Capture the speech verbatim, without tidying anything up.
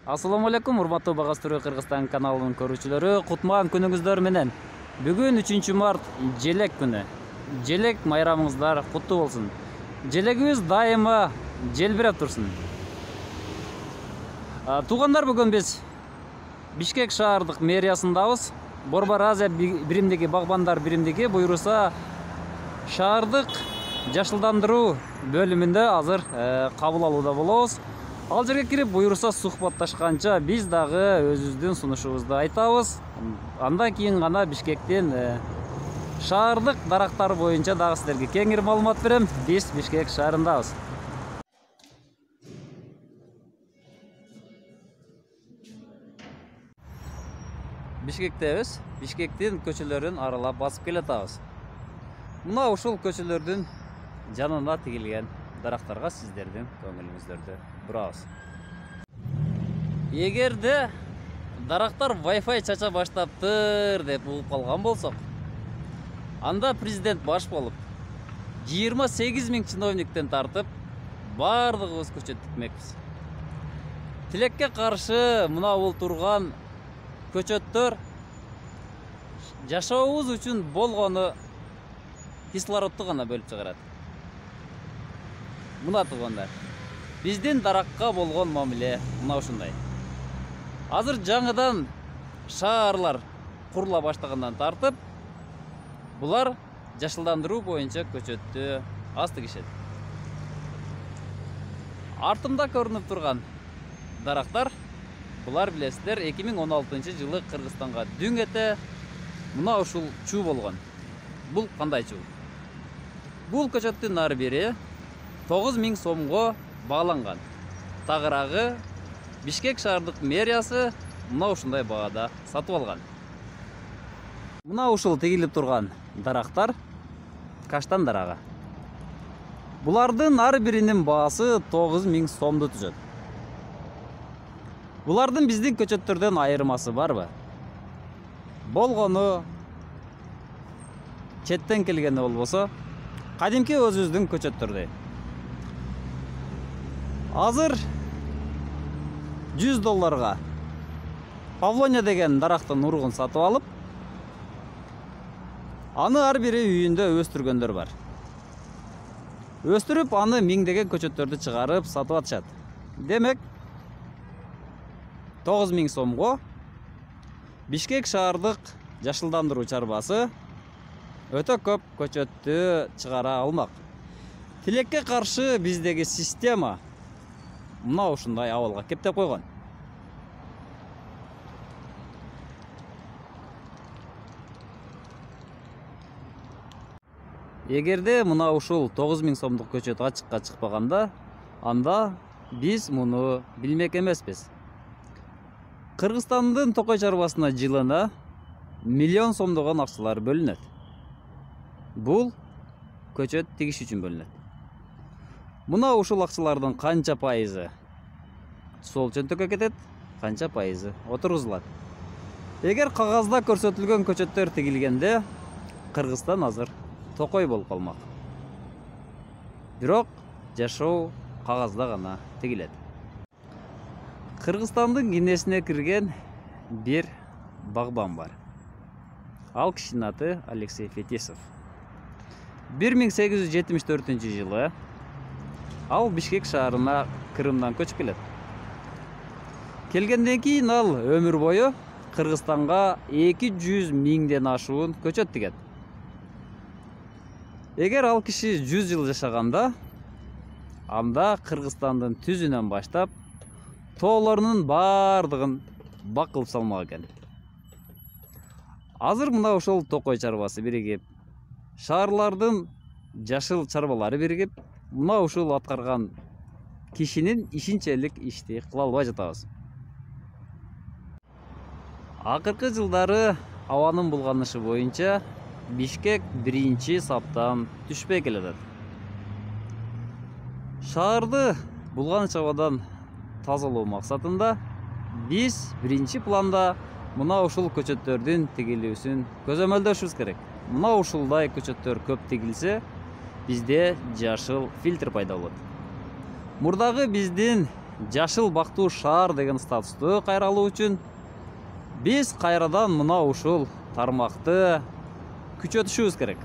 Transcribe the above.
Ассаламу алейкум, урматтуу Багас Түрө Кыргызстан каналынын көрүүчүлөрү. Кутман күнүңүздөр менен. Бүгүн үчүнчү март желек күнү. Желек майрамыңыздар куттуу болсун. Желегибиз дайыма желбиреп турсун. Туугандар, бүгүн биз Бишкек шаардык мэриясындабыз. Борбор Азия биримдиги, Багбандар биримдиги буйруса шаардык жашылдандыруу бөлүмүндө азыр кабыл алууда болобуз. Ал жерге кирип буйруса сухбатташканча биз дагы өзүбүздүн сунушубузду айтабыз. Андан кийин гана Бишкектин шаардык дарактар боюнча дагы силерге кеңири маалымат берем. Биз Бишкек шаарындабыз. Бишкектебиз. Бишкектин көчөлөрүн аралап басып келатабыз. Мына ушул көчөлөрдүн жанына тигилген дарактарга сиздердин көңүлүңүздөрдү бурабыз. Эгерде дарактар Wi-Fi чача баштаптыр деп угуп калган болсок, анда президент баш болуп жыйырма сегиз миң чиновниктен тартып бардыгыбыз көчөт тикмекпиз. Тилекке каршы мына бул турган көчөттөр жашообуз үчүн болгону кислородду гана бөлүп чыгарат. Мына туугандар, биздин даракка болгон мамиле мына ушундай. Азыр жаңыдан шаарлар курула баштагандан тартып, булар жашылдандыруу боюнча көчөттү аз тигишет. Артымда көрүнүп турган дарактар, булар билесиздер, эки миң он алтынчы жылы Кыргызстанга дүң эте мына ушул чуу болгон. Бул кандай чуу? Бул көчөттүн ар бири тогуз миң сомго бааланган. Тагыраагы Бишкек шаардык мэриясы мына ушундай баада сатып алган. Мына ушул тигилип турган дарактар каштан дарагы. Булардын ар биринин баасы тогуз миң сомду түзөт. Булардын биздин көчөттөрдөн айырмасы барбы? Болгону четтен келгени болбосо, кадимки өзүбүздүн көчөттөрдөй. Азыр жүз долларга Павлония деген дарактын уругун сатып алып, аны ар бири үйүндө өстүргөндөр бар. Өстүрүп, аны миңдеген көчөттөрдү чыгарып сатып атышат. Демек, тогуз миң сомго Бишкек шаардык жашылдандыруу чарбасы өтө көп көчөттү чыгара алмак. Тилекке каршы биздеги система мына ушундай абалга кептеп койгон. Эгерде мына ушул тогуз миң сомдук көчөт ачыкка чыкпаганда, анда биз муну билмек эмеспиз. Кыргызстандын токой чарбасына жылына миллион сомдогон акчалар бөлүнөт. Бул көчөт тигиш үчүн бөлүнөт. Мына ушул акчалардын канча пайызы сол чөнтөккө кетет, канча пайызы отургузулат. Эгер кагазда көрсөтүлгөн көчөттөр тигилгенде, Кыргызстан азыр токой болуп калмак. Бирок жашоо кагазда гана тигилет. Кыргызстандын кинесине кирген бир багбан бар. Ал кишинин аты Алексей Фетисов. бир миң сегиз жүз жетимиш төртүнчү жылы ал Бишкек шаарына Крымдан көчүп келет. Келгенден кийин ал өмүр бою Кыргызстанга эки жүз миңден ашуун көчөт тигет. Эгер ал киши жүз жыл жашаганда, анда Кыргызстандын түзүнөн баштап тоолорунун бардыгын бак кылып салмак экен. Азыр мына ошол токой чарбасы биригип, шаарлардын жашыл чарбалары биригип, мына ушул аткарган кишинин ишинчелик ишти кыла албай жатабыз. Акыркы жылдары абанын булганышы боюнча Бишкек биринчи саптан түшпөй келет. Шаарды булганыч абадан тазалоо максатында биз биринчи планда мына ушул көчөттөрдүн тигилүүсүн көзөмөлдөшүбүз керек. Мына ушулдай көчөттөр көп тигилсе, бизде жашыл фильтр пайда болот. Мурдагы биздин жашыл бактуу шаар деген статусту кайра алуу үчүн биз кайрадан мына ушул тармакты күчөтүшүбүз керек.